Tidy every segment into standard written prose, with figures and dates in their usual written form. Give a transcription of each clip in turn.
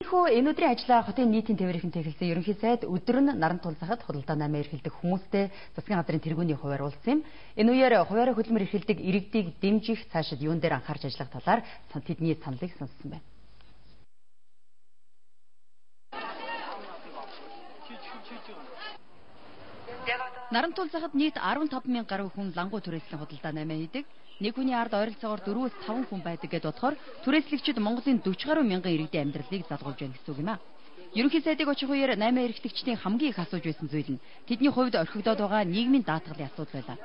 Иймэрхүү энэ өдрийн ажлаа хотын нийтийн тээврийн тэглэсэн ерөнхий сайд өдөр нь наран тулсахад худалдаа намаа эрхэлдэг хүмүүстэй засгийн газрын тэргүүний хуваар уулзсан юм. Энэ үеэр хуваараа хөдөлмөр эрхэлдэг иргэдийг дэмжих цаашид юун дээр анхаарч ажиллах талаар тэдний саналыг сонссон байна. Наран тулсахад нийт 15,000 гаруй хүн лангуу түрээслийн худалдаа намаа хийдэг. Нэг хүний ард ойролцоогоор 4-5 хүн байдаг гэдээ бодохоор түрээслэгчид Монголын 40 гаруй мянган иргэдийн амьдралыг задгуулж байна гэсэн үг юм а. Ерөнхий сайдыг очих үеэр намаа эрхлэгчдийн хамгийн их асууж байсан зүйл нь тэдний хувьд орхигдоод байгаа нийгмийн даатгалын асуудал байлаа.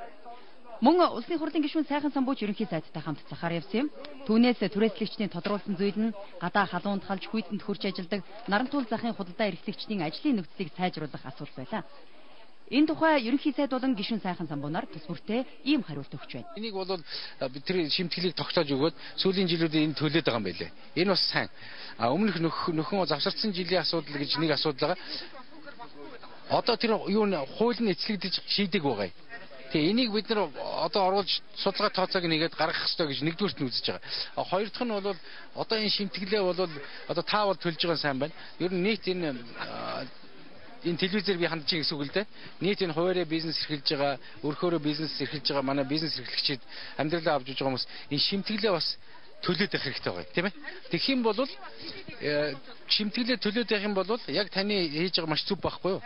Мөн улсын хурлын гишүүн сайхан самбууч ерөнхий сайдтай хамт цахаар явсан юм. Түүнээс түрээслэгчдийн тодруулсан зүйл нь гадаа халуунд халж хүйтэнд хурж ажилдаг наран тулсахын худалдаа эрхлэгчдийн ажлын нөхцөлийг сайжруулах асуудал байлаа. Энэ тухай ерөнхий сайд болон гишүүн сайхан самбуунаар тус бүртээ ийм хариулт өгч байна. Энийг бол бид тэр шимтгэлийг тогтоож өгөөд сүүлийн жилүүдэд энэ төлөөд байгаа юм байлээ. Энэ бас сайн. Өмнөх нөхөн завсарсан жилийн асуудал гэж нэг асуудал байгаа. Одоо тэр юу н хууль нь эцлэгдэж шийдэг байгаа. Тэгээ энийг бид нар одоо оруулж судалгаа тооцоог нэгээд гаргах хэрэгтэй гэж нэгдүгürt нь үзэж байгаа. Хоёр дахь нь бол одоо энэ шимтгэлээ бол одоо таавал төлж байгаа сайн байна. Ер нь нийт энэ телевизээр би хандж байгаа гэсэн үг л дээ. Нийт энэ хуваарь бизнес эрхэлж байгаа, өөрөөрөө бизнес эрхэлж байгаа манай бизнес эрхлэгчид амьдралаа авч байгаа хүмүүс энэ шимтгэлээ бас төлөөд байх хэрэгтэй байгаа тийм ээ. Тэгэх юм бол шимтгэлээ төлөөд байх юм бол яг таны хийж байгаа маш зүв байхгүй юу?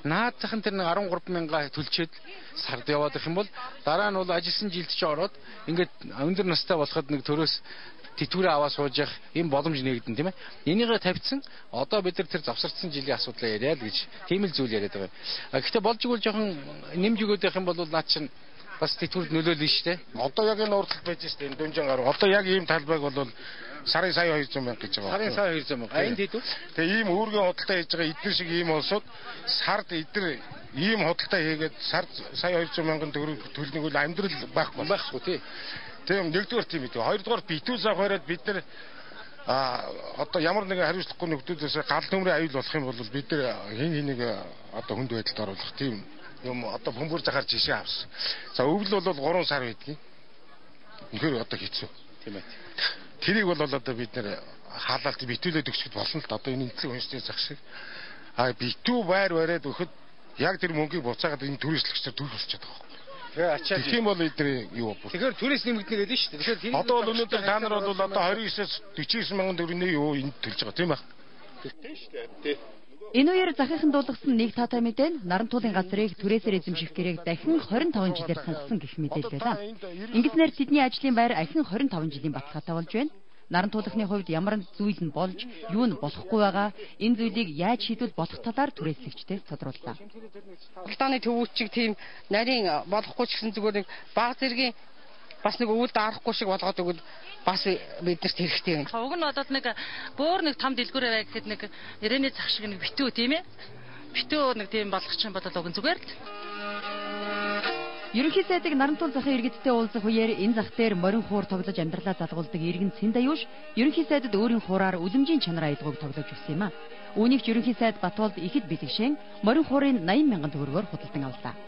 Наад захын тэр 13,000 төлчөөд сард яваад их юм бол дараа нь бол ажилласан жилд ч ороод ингээд өндөр настай болоход нэг төрөөс тэтгэврээ аваа сууж явах юм боломж нэгдэн тийм ээ. Энийгээ тавьсан одоо бид нар тэр завсарсан жилийн асуудлаа яриад гэж тийм л зүйл яриад байгаа. Гэхдээ болж игэл жоохон нэмж өгöd байх юм бол наад чинь бас тэтгэврд нөлөөлнө шүү дээ. Одоо яг энэ урдлт байж шүү дээ. Энэ дүнжин гаруй. Одоо яг ийм талбайг бол сарын сая 200 мянга гэж байгаа. Сарын сая 200 мянга. Энд хэд вэ? Тэгээ ийм үүргийн худалдаа хийж байгаа эдгээр шиг ийм улсууд сард эдгээр ийм худалдаа хийгээд сард сая 200 мянган төгрөг төлнөг бол амьдрал байхгүй тий. Тийм нэгдүгээр тийм үү. Хоёрдугаар битүүс авахараад бид нар одоо ямар нэгэн хариуцлагагүй нөхдөөс гал төмрийн аюул болох юм бол бид нар хин нэг одоо хүнд байдалд оруулах тийм юм одоо бөмбөр захаар жишээ авсан. За өвөл бол 3 сар байдгийг. Үнэхээр одоо хэцүү. Тийм ээ. Тэрийг бол одоо бид нар хаалалт битүүлээд өгчөд болно л да. Одоо энэ энэцэг үнэтэй зах шиг. Битүү байр бариад өгөхөд яг тэр мөнгийг буцаагаад энэ түрээслэгчдэр төрөх болчиход байгаа. Тийм бол эдний юу бо. Тэгэхээр түрээс нэмэгдэнэ гэдэг нь шүү дээ. Тэгэхээр одоо бол өнөөдөр та нар бол одоо 29-аас 49 мянган төгрөгийн юу энд төлж байгаа тийм байх. Тийм шүү дээ. Энэ үеэр захийнхан дуулгасан нэг таатай мэдээ наран туулын газрыг түрээсээр эзэмших гэрээг дахин 25 жилээр сунгасан гэх мэдээлэл байлаа. Ингэснээр тэдний ажлын байр ахин 25 жилийн баталгаатай болж байна. Наран туулахны хувьд ямар зүйл нь болж, юу нь болохгүй байгаа, энэ зүйлийг яаж шийдвэл болох талаар түрээслэгчдээс тодрууллаа. Пакистаны төвүүчиг тийм нарийн болохгүй ч гэсэн зүгээр нэг баг зэргийн бас нэг өвөл даарахгүй шиг болгоод өгвөл бас биднэрт хэрэгтэй байна. Уг нь бодоод нэг бөөр нэг том дэлгүүрээ бай гэхэд нэг ирээний зах шиг нэг битүү тийм ээ. Битүү нэг тийм болгоч юм бодоод уг нь зүгээр л. Ерөнхий сайдыг наран тулсахын иргэдтэй уулзах үеэр энэ зах дээр морин хуур тоглож амьдралаа задгуулдаг иргэн Цэндаюуш ерөнхий сайдад өөрийн хуураар үлэмжийн чанарын аялгауг тоглож өгсөн юм а. Үүнийг ч ерөнхий сайд Батболд ихэд бэлэгшэн морин хуурын 80 мянган төгрөгөөр худалдан авлаа.